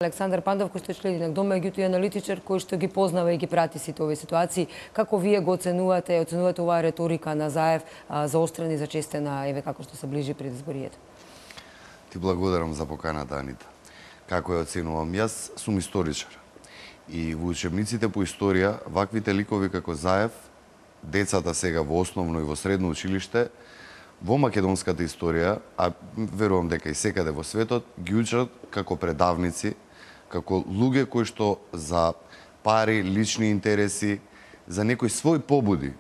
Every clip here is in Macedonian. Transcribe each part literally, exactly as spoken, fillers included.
Александар Пандов, кој што член на Дом, меѓутоа и аналитичар кој што ги познава и ги прати сите овие ситуации. Како вие го оценувате, оценувате оваа реторика на Заев заострена и зачестена, еве како што се ближи пред изборието? Ти благодарам за поканата, Анита. Како ја оценувам? Јас сум историчар. И во учебниците по историја, ваквите ликови како Заев, децата сега во основно и во средно училиште, во македонската историја, а верувам дека и секаде во светот, ги учат како предавници, како луѓе кои што за пари, лични интереси, за некои свој побуди,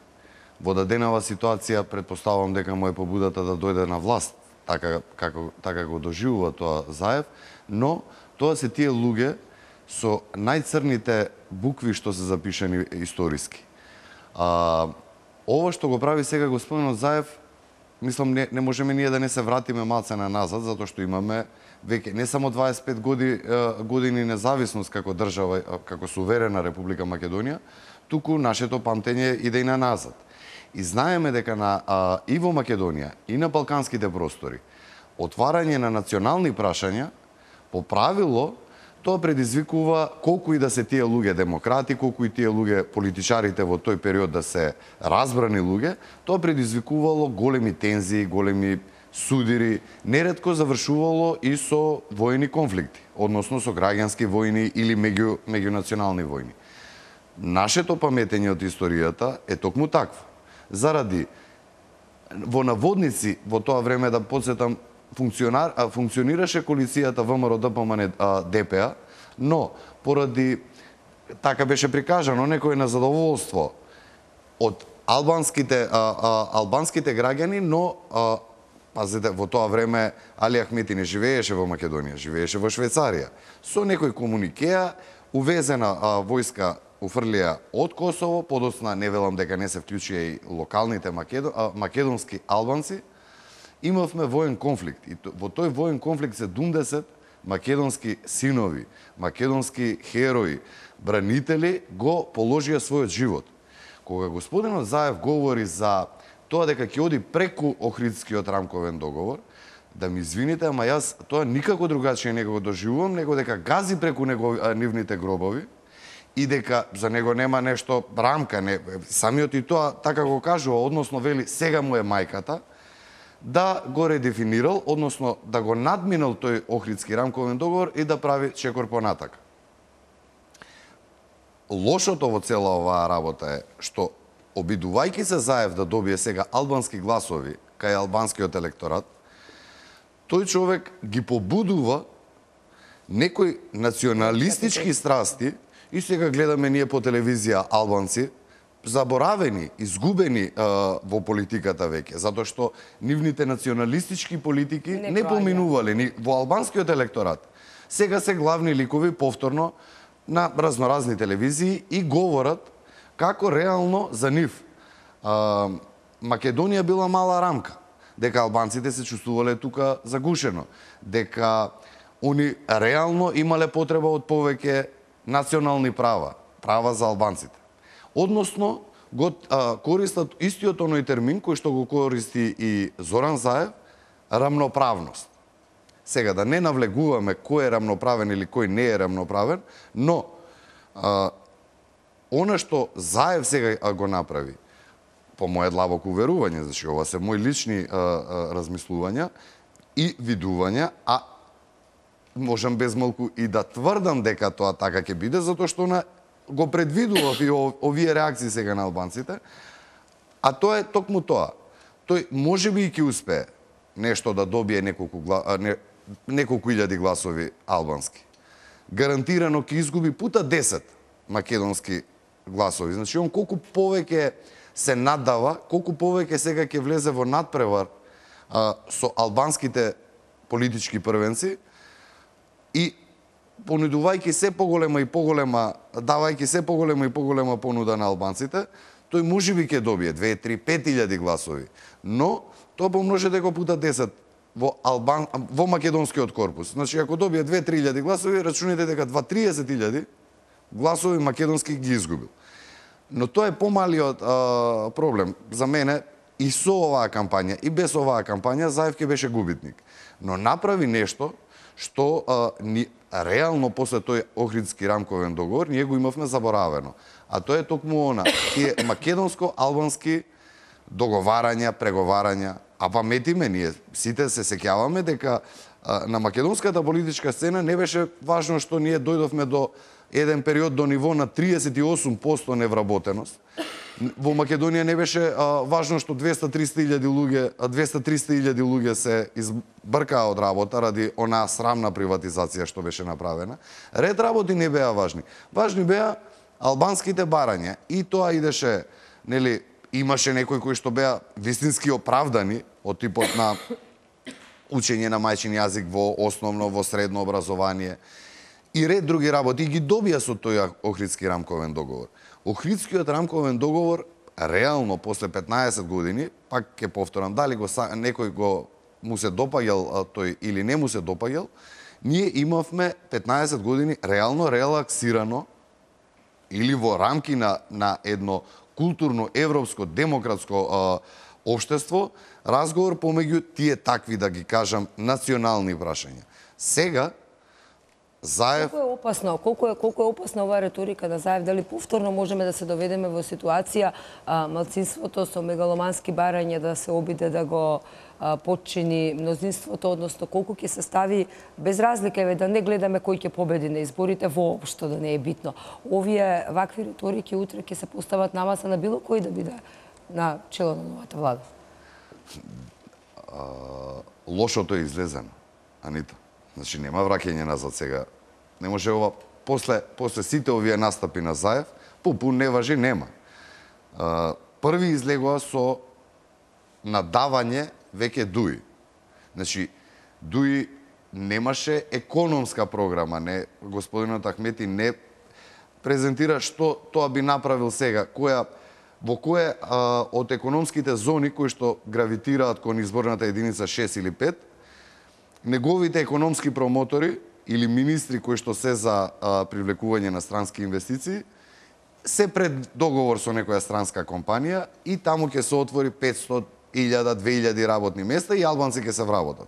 во даденава ситуација претпоставувам дека му е побудата да дојде на власт, така како така го доживува тоа Заев, но тоа се тие луѓе со најцрните букви што се запишани историски. А, ова што го прави сега господинот Заев, мислам не, не можеме ние да не се вратиме малце на назад, затоа што имаме веќе не само дваесет и пет години, години независност како држава, како суверена Република Македонија, туку нашето памтење иде и на назад. И знаеме дека на, а, и во Македонија, и на балканските простори, отварање на национални прашања, по правило, тоа предизвикува колку и да се тие луѓе демократи, колку и тие луѓе политичарите во тој период да се разбрани луѓе, тоа предизвикувало големи тензии, големи судири, неретко завршувало и со војни конфликти, односно со граѓански војни или меѓу меѓунационални војни. Нашето паметење од историјата е токму такво. Заради во наводници во тоа време, да подсетам, функционар, а, функционираше коалицијата ВМРО ДПМН ДПА, но поради така беше прикажано некој незадоволство од албанските а, а, албанските граѓани, но а, пазете, во тоа време Али Ахмети не живееше во Македонија, живееше во Швајцарија. Со некој комуникеа увезена а, војска уфрлија од Косово, подоцна не велам дека не се вклучија и локалните македон, а, македонски албанци. Имавме воен конфликт и во тој воен конфликт седумдесет македонски синови, македонски херои, бранители го положија својот живот. Кога господинот Заев говори за тоа дека ќе оди преку Охридскиот рамковен договор, да ми извините, ама јас тоа никако другачие не го доживувам, него дека гази преку него нивните гробови и дека за него нема нешто рамка, не, самиот и тоа така го кажува, односно вели сега му е мајката, да го редефинирал, односно да го надминал тој Охридски рамковен договор и да прави чекор понатака. Лошото во цела оваа работа е што, обидувајќи се Заев да добие сега албански гласови кај албанскиот електорат, тој човек ги побудува некои националистички страсти и сега гледаме ние по телевизија албанци, заборавени, изгубени а, во политиката веќе, затоа што нивните националистички политики не, не поминувале ни во албанскиот електорат. Сега се главни ликови повторно на разноразни телевизии и говорат како реално за нив а, Македонија била мала рамка, дека албанците се чувствувале тука загушено, дека они реално имале потреба од повеќе национални права, права за албанците. Односно, го а, користат истиот оној термин кој што го користи и Зоран Заев, рамноправност. Сега, да не навлегуваме кој е рамноправен или кој не е рамноправен, но а, она што Заев сега го направи, по моје длабоко уверување, значи ова се мои лични а, а, размислувања и видувања, а можам без малку и да тврдам дека тоа така ќе биде, затоа што на го предвидував и овие реакции сега на албанците, а тоа е токму тоа. Тој можеби и ќе успее нешто да добие неколку, не, неколку илјади гласови албански. Гарантирано ќе изгуби пута десет македонски гласови. Значи, он колку повеќе се наддава, колку повеќе сега ќе влезе во надпревар а, со албанските политички првенци и понудувајќи се поголема и поголема, давајќи се поголема и поголема понуда на албанците, тој можеби ќе добие две, три, пет илјади гласови, но тоа помножете го пута десет во Албан, во македонскиот корпус. Значи, ако добие две, три илјади гласови, рачунете дека два триесет илјади гласови македонски ги изгубил. Но тоа е помалиот а, проблем за мене и со оваа кампања и без оваа кампања Заев ќе беше губитник. Но направи нешто што а, ни, реално после тој Охридски рамковен договор ние го имавме заборавено. А тоа е токму она, тие македонско-албански договарања, преговарања, а паметиме ние, сите се сеќаваме дека а, на македонската политичка сцена не беше важно што ние дојдовме до еден период до ниво на триесет и осум проценти невработеност. Во Македонија не беше а, важно што двеста до триста илјади луѓе, двеста до триста илјади луѓе се избркаа од работа ради онаа срамна приватизација што беше направена. Ред работи не беа важни. Важни беа албанските барања и тоа идеше, нели, имаше некои кои што беа вистински оправдани од типот на учење на мајчин јазик во основно, во средно образование и ред други работи и ги добија со тој Охридски рамковен договор. Охридскиот рамковен договор реално после петнаесет години, пак ќе повторам, дали го некој го му се допаѓал тој или не му се допаѓал, ние имавме петнаесет години реално релаксирано или во рамки на на едно културно европско демократско а, општество разговор помеѓу тие такви, да ги кажам, национални прашања. Сега Заев... Колку е опасно, колку е, колку е опасна оваа реторика на Заев? Дали повторно можеме да се доведеме во ситуација а, малцинството со мегаломански барања да се обиде да го а, подчини мнозинството, односно колку ќе се стави без разлика, еве да не гледаме кој ќе победи на изборите, воопшто да не е битно. Овие вакви реторики утре ќе се постават на маса на било кој да биде на чело на новата влада. А, лошото е излезено, Анита. Значи нема враќање назад сега. Не може ова после после сите овие настапи на Заев, попун не важи, нема. А, први излегува со надавање веќе Дуи. Значи Дуи немаше економска програма, не господинот Ахмети не презентира што тоа би направил сега, која во кое а, од економските зони кои што гравитираат кон изборната единица шест или пет, неговите економски промотори или министри кои што се за а, привлекување на странски инвестиции се пред договор со некоја странска компанија и таму ќе се отвори петстотини илјади, две илјади работни места и албанци ќе се вработат.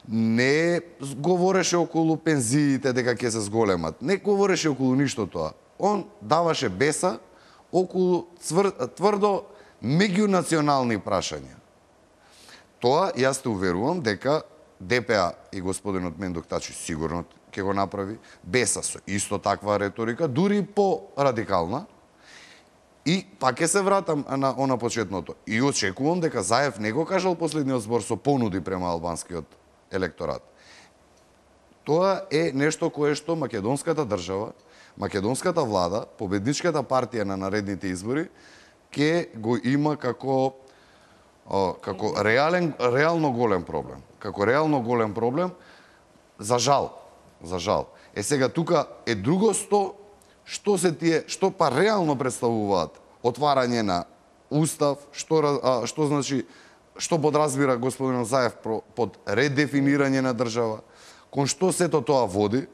Не говореше околу пензиите дека ќе се зголемат, не говореше околу ништо тоа. Он даваше беса околу цвр... тврдо меѓунационални прашања. Тоа јас те уверувам дека ДПА и господинот Мендук Тачи сигурно ќе го направи, Беса со исто таква реторика, дури по-радикална. И пак ќе се вратам на она почетното. И очекувам дека Заев не го кажал последниот збор со понуди према албанскиот електорат. Тоа е нешто кое што македонската држава, македонската влада, победничката партија на наредните избори ќе го има како како реален реално голем проблем. Како реално голем проблем, за жал, за жал. Е сега тука е другосто што се тие, што па реално представуваат отварање на устав, што а, што значи што подразбира господин Заев под редефинирање на држава, кон што сето тоа води,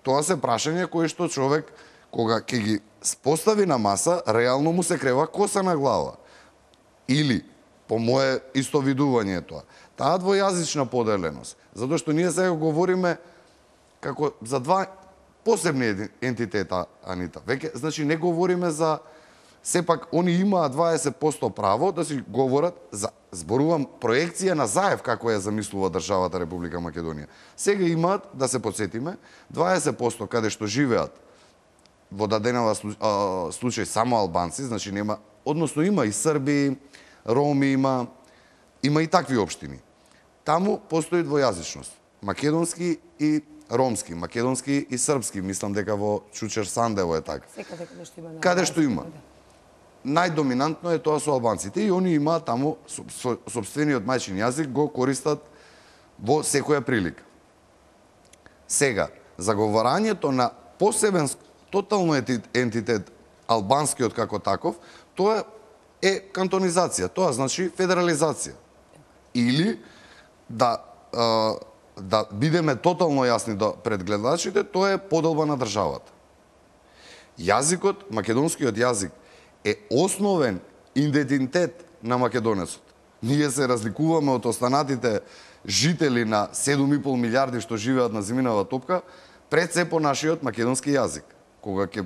тоа се прашања кои што човек кога ќе ги постави на маса, реално му се крева коса на глава. Или по мое истовидување тоа. Таа двојазична поделеност, затоа што ние сега говориме како за два посебни ентитета, Анита. Веќе, значи не говориме за сепак они имаат дваесет проценти право да си говорат за зборувам проекција на Заев како ја замислува државата Република Македонија. Сега имаат, да се потсетиме, дваесет проценти каде што живеат во даденава случај само албанци, значи нема, односно има и Срби, Роми има, има и такви општини. Таму постои двојазичност. Македонски и ромски, македонски и српски, мислам дека во Чучер Сандево е така. Секаде каде што има. Каде што има. Најдоминантно е тоа со албанците и они имаат таму сопствениот мајчин јазик го користат во секоја прилика. Сега, заговорањето на посебен тотално ентитет албанскиот како таков, тоа е кантонизација, тоа значи федерализација. Или да да бидеме тотално јасни до пред гледачите, тоа е поделба на државата. Јазикот, македонскиот јазик е основен идентитет на македонецот. Ние се разликуваме од останатите жители на седум и пол милијарди што живеат на земјинава топка, пред се по нашиот македонски јазик. Кога ќе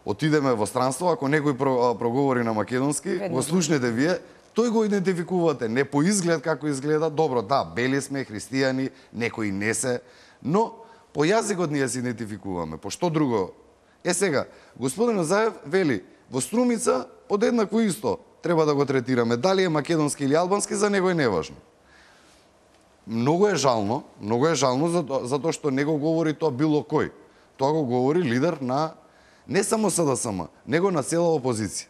отидеме во странство, ако некој проговори на македонски, го слушнете вие, тој го идентификувате, не по изглед како изгледа, добро, да, бели сме, христијани, некои не се, но по јазикот ние се идентификуваме, по што друго. Е сега, господин Заев вели, во Струмица подеднакво исто треба да го третираме, дали е македонски или албански, за него е неважно. Многу е жално, многу е жално затоа што не го говори тоа било кој. Тоа го говори лидер на не само СДСМ, него на цела опозиција.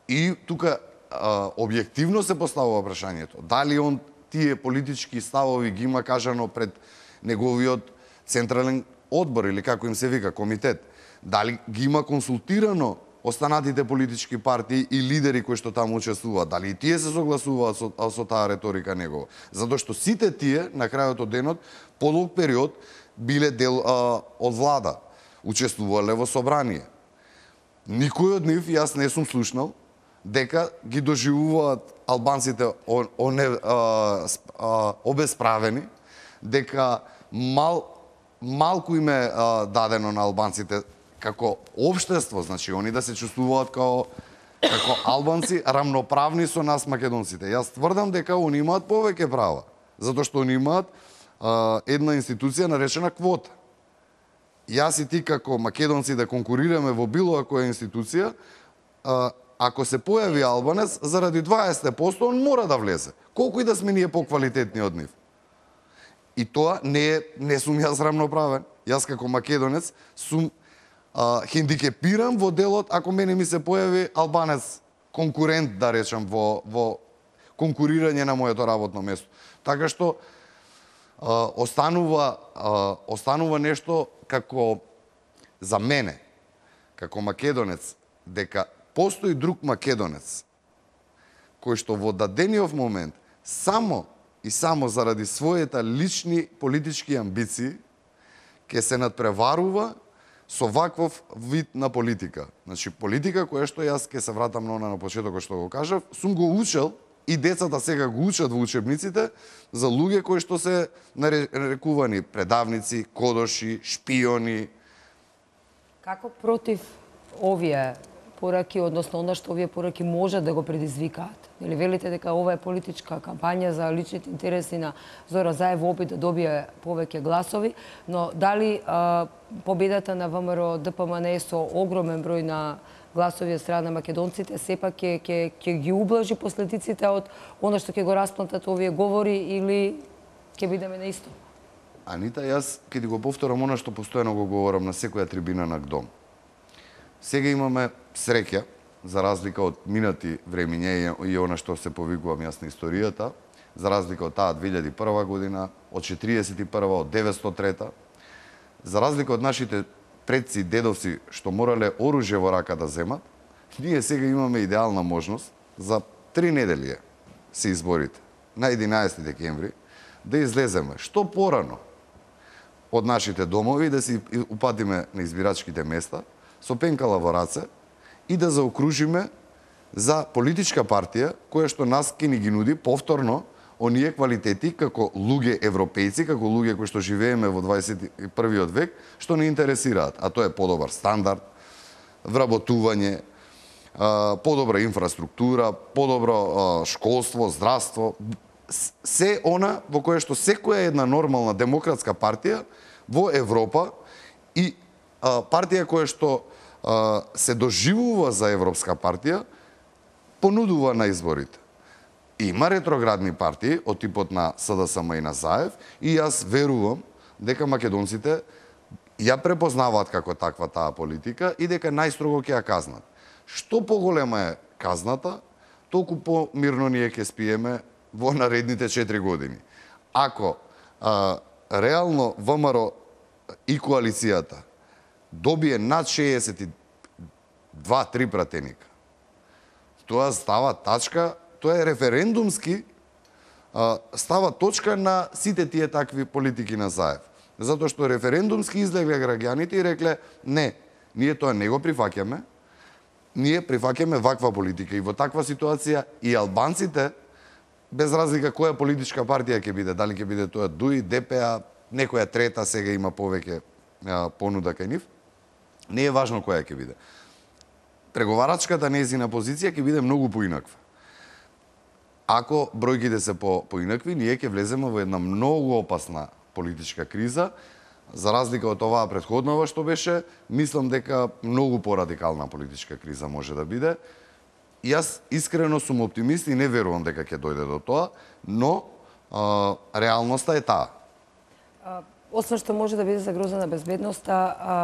И тука а, објективно се поставува прашањето. Дали он тие политички ставови ги има кажано пред неговиот централен одбор или како им се вика, комитет. Дали ги има консултирано останатите политички партии и лидери кои што таму учествуваат, дали и тие се согласуваат со, со таа реторика негова. Затоа што сите тие, на крајот од денот, подолг период, биле дел а, од влада, учествувале во собрание. Никој од нив, јас не сум слушнал, дека ги доживуваат албанците он, оне, а, а, обесправени, дека мал, малку им е а, дадено на албанците како општество, значи они да се чувствуваат како како албанци рамноправни со нас македонците. Јас тврдам дека они имаат повеќе права, затоа што они имаат а, една институција наречена квота. Јас и ти како македонци да конкурираме во било која институција, а, ако се појави албанец, заради дваесет проценти он мора да влезе. Колку и да сме ние поквалитетни од нив. И тоа не е, не сум јас рамноправен. Јас како македонец сум а, хендикепиран во делот ако мене ми се појави албанец конкурент, да речам, во, во конкурирање на моето работно место. Така што а, останува, а, останува нешто како за мене, како македонец, дека постои друг македонец кој што во дадениот момент само и само заради своите лични политички амбиции ќе се надпреварува со ваков вид на политика. Значи, политика која што јас ќе се вратам на она на почетокот што го кажав, сум го учел и децата сега го учат во учебниците за луѓе кои што се нарекувани предавници, кодоши, шпиони. Како против овие пораки, односно она што овие пораки може да го предизвикаат? Или велите дека ова е политичка кампања за личните интереси на Зоран Заев во опит да добие повеќе гласови, но дали а, победата на ВМРО ДПМНЕ со огромен број на гласови од страна на македонците сепак ќе ќе ќе ги ублажи последиците од она што ќе го расплантат овие говори или ќе бидеме на исто? Анита, јас ќе ти го повторам она што постојано го говорам на секоја трибина на ГДОМ. Сега имаме среќа, за разлика од минати времиња и она што се повикувам јас на историјата, за разлика од таа две илјади и прва година, од четириесет и прва, од деветстотини и трета, за разлика од нашите предци и дедовци што морале оружје во рака да земат, ние сега имаме идеална можност за три недели се изборите, на единаесети декември, да излеземе што порано од нашите домови, да се упатиме на избирачките места, со пенкала во раце, и да заокружиме за политичка партија која што нас ќе ни ги нуди повторно оние квалитети како луѓе европејци, како луѓе кои што живееме во дваесет и првиот век, што не интересираат, а тоа е подобар стандард, вработување, подобра инфраструктура, подобро школство, здравство, се она во кое што секоја една нормална демократска партија во Европа и партија која што се доживува за европска партија, понудува на изборите. Има ретроградни партии од типот на СДСМ и на Заев и јас верувам дека македонците ја препознаваат како таква таа политика и дека најстрого ќе ја казнат. Што поголема е казната, толку помирно ние ќе спиеме во наредните четири години. Ако а, реално ВМРО и коалицијата добие над шеесет и два три пратеника, тоа става тачка, тоа е референдумски, става точка на сите тие такви политики на Заев. Затоа што референдумски излегле граѓаните и рекле, не, ние тоа не го прифаќаме, ние прифаќаме ваква политика. И во таква ситуација и албанците, без разлика која политичка партија ќе биде, дали ќе биде тоа ДУИ, ДПА, некоја трета сега има повеќе понуда кај нив, не е важно која ќе биде. Преговарачката нејзина позиција ќе биде многу поинаква. Ако бројките се по поинакви, ние ќе влеземе во една многу опасна политичка криза, за разлика од оваа претходнава што беше, мислам дека многу порадикална политичка криза може да биде. Јас искрено сум оптимист и не верувам дека ќе дојде до тоа, но а, реалноста е таа. Освен што може да биде загрозена безбедноста, а,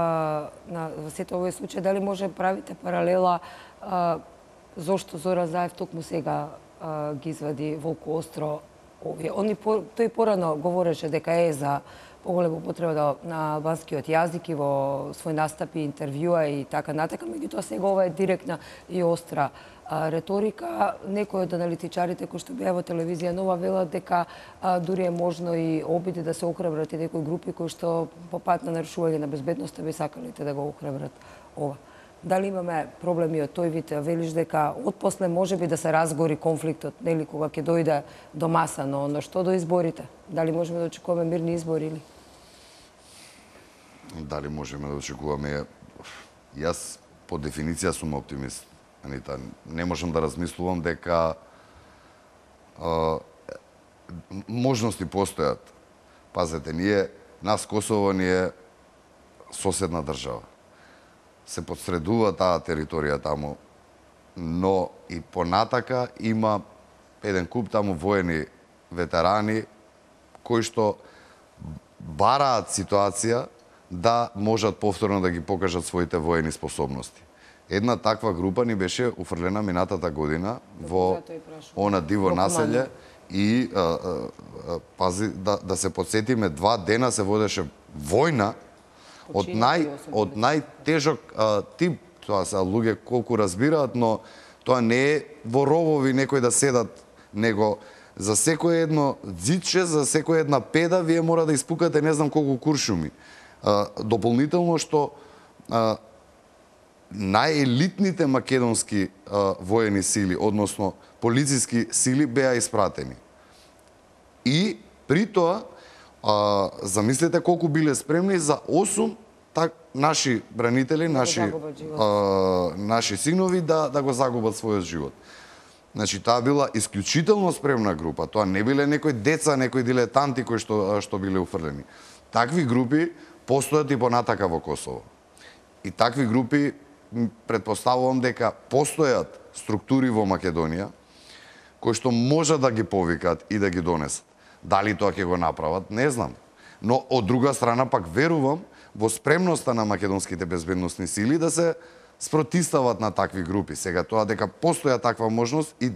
на во сето овој случај, дали може правите паралела а, зошто Зоран Заев токму сега а, ги извади Волку Остро овие? Они по, тој порано говореше дека е за поголема употреба на албанскиот јазик и во свој настапи, интервјуа и така натака, меѓутоа сега ова е директна и остра а, реторика. Некои од аналитичарите кои што беа во телевизија Нова велат дека а, дури е можно и обиди да се охрабрат и некои групи кои што по пат на нарушување на безбедноста би сакалите да го охрабрат ова. Дали имаме проблеми од тој вид? Велиш дека отпосле може би да се разгори конфликтот, нели, кога ќе дојде до маса, но, но што до изборите? Дали можеме да очекуваме мирни избори или? Дали можеме да очекуваме? Јас по дефиниција сум оптимист. Анита, не можам да размислувам дека а, можности постојат. Пазете, ние, нас Косово ни е соседна држава. Се подсредува таа територија таму, но и понатака има еден куп таму воени ветерани кои што бараат ситуација да можат повторно да ги покажат своите воени способности. Една таква група ни беше уфрлена минатата година во она диво населје и а, а, пази да, да се подсетиме, два дена се водеше војна од нај од најтежок а, тип. Тоа се луѓе колку разбираат, но тоа не е во ровови некои да седат, него за секое едно дзидче, за секоја една педа вие мора да испукате не знам колку куршуми. А, дополнително што а, најелитните македонски а, воени сили, односно полициски сили беа испратени. И при тоа а, замислете колку биле спремни за осум так наши бранители, наши а, наши синови да да го загубат својот живот. Значи таа била исклучително спремна група. Тоа не биле некои деца, некои дилетанти кои што што биле уфрлени. Такви групи постојат и понатака во Косово. И такви групи претпоставувам дека постојат структури во Македонија кои што можат да ги повикат и да ги донесат. Дали тоа ќе го направат, не знам. Но од друга страна пак верувам во спремноста на македонските безбедносни сили да се спротистават на такви групи. Сега тоа дека постоја таква можност и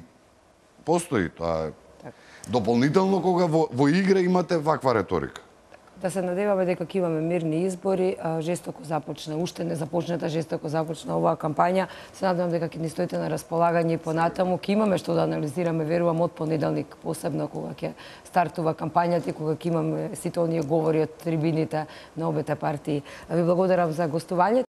постои, тоа е дополнително кога во, во игра имате ваква реторика. Да се надеваме дека ќе имаме мирни избори, жестоко започна, уште не започната, жестоко започна оваа кампања. Се надевам дека ќе ни стоите на располагање и понатаму. Ќе имаме што да анализираме, верувам, од понеделник, посебно кога ќе стартува кампањата и кога ќе имаме сите оние говори од трибините на обете партии. Ви благодарам за гостувањето.